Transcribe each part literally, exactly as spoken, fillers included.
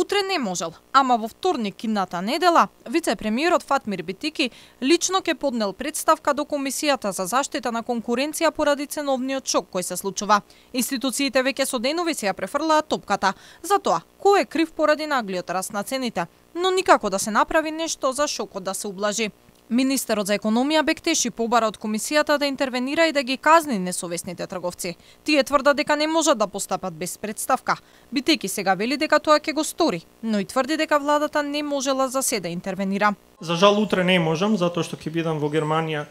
утре не можел, ама во вторник идната недела вице-премиерот Фатмир Битики лично ќе поднел представка до Комисијата за заштита на конкуренција поради ценовниот шок кој се случува. Институциите веќе со денови се ја префрлаат топката за тоа кој е крив поради наглиот раст на цените, но никако да се направи нешто за шокот да се ублажи. Министерот за економија Бектеши побара од комисијата да интервенира и да ги казни несовесните трговци. Тие тврдат дека не можат да постапат без представка. Битеки сега вели дека тоа ќе го стори, но и тврди дека владата не можела за се да интервенира. За жал утре не можам, затоа што ќе бидам во Германија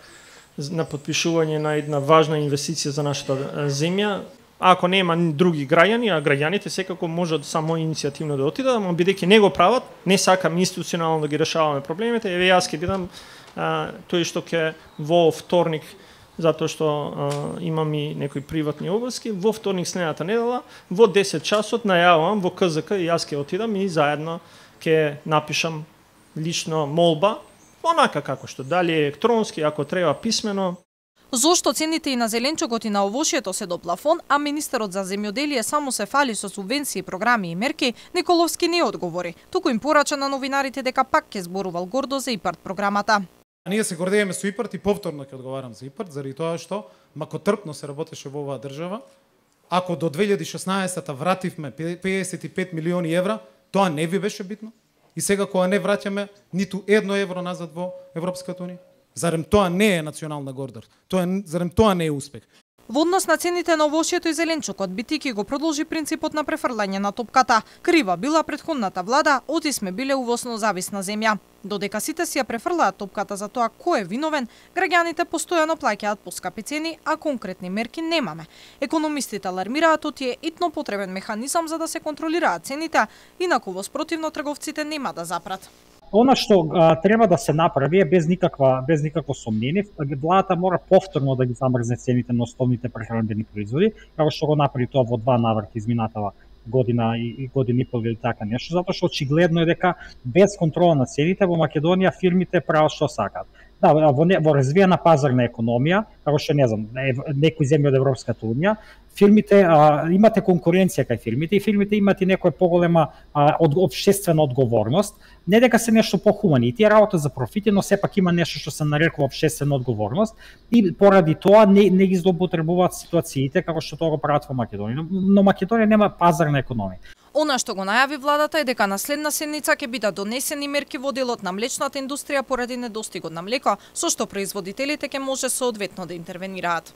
на подпишување на една важна инвестиција за нашата земја. Ако нема други граѓани, а граѓаните секако можат само иницијативно да отидат, но бидејќи не го прават, не сакам институционално да ги решаваме проблемите, еве јас ќе бидам а, тој што ќе во вторник, затоа што а, имам и некои приватни обврски, во вторник следната недела, во десет часот најавувам во К З К и јас ќе отидам и заедно ќе напишам лично молба, онака како што, дали електронски, ако треба писмено. Зошто цените и на зеленчукот и на овошјето се до плафон, а министерот за земјоделие само се фали со субвенции, програми и мерки, Николовски не одговори, туку им порача на новинарите дека пак ќе зборувал гордо за ИПАРД програмата. Ние се гордееме со ИПАРД и повторно ќе одговарам за ИПАРД, заради тоа што макотрпно се работеше во оваа држава. Ако до две илјади и шеснаесетта вративме педесет и пет милиони евра, тоа не ви беше битно. И сега кога не враќаме ниту едно евро назад во Европската унија. Зарем тоа не е национална гордост? Тоа зарем тоа не е успех? Во однос на цените на овошјето и зеленчукот, Битики го продолжи принципот на префрлање на топката. Крива била претходната влада, оти сме биле увосно зависна земја. Додека сите си ја префрлаат топката за тоа кој е виновен, граѓаните постојано плаќаат поскапи цени, а конкретни мерки немаме. Економистите алармираат оти е итно потребен механизам за да се контролираат цените, инаку во спротивно трговците нема да запрат. Она што а, треба да се направи е без никаква без никакво сомнение, владата мора повторно да ги замрзне цените на основните прехранбени производи, како што го направи тоа во два наврати изминатава година и, и година и пол или така нешто, затоа што очигледно е дека без контрола на цените во Македонија фирмите прават што сакаат. Да, во, не, во развиена пазарна економија, како што не знам, некои земји од Европската унија, фирмите а, имате конкуренција кај фирмите и фирмите имат и некоја поголема а, од, обштествена одговорност, не дека се нешто похумани, и тие работа за профити, но сепак има нешто што се нарекува обштествена одговорност и поради тоа не, не ги злоупотребуваат ситуациите како што тоа го прават во Македонија. Но Македонија нема пазарна економија. Она што го најави владата е дека на следна седница ќе бидат донесени мерки во делот на млечната индустрија поради недостигот на млеко, со што производителите ќе може соодветно да интервенираат.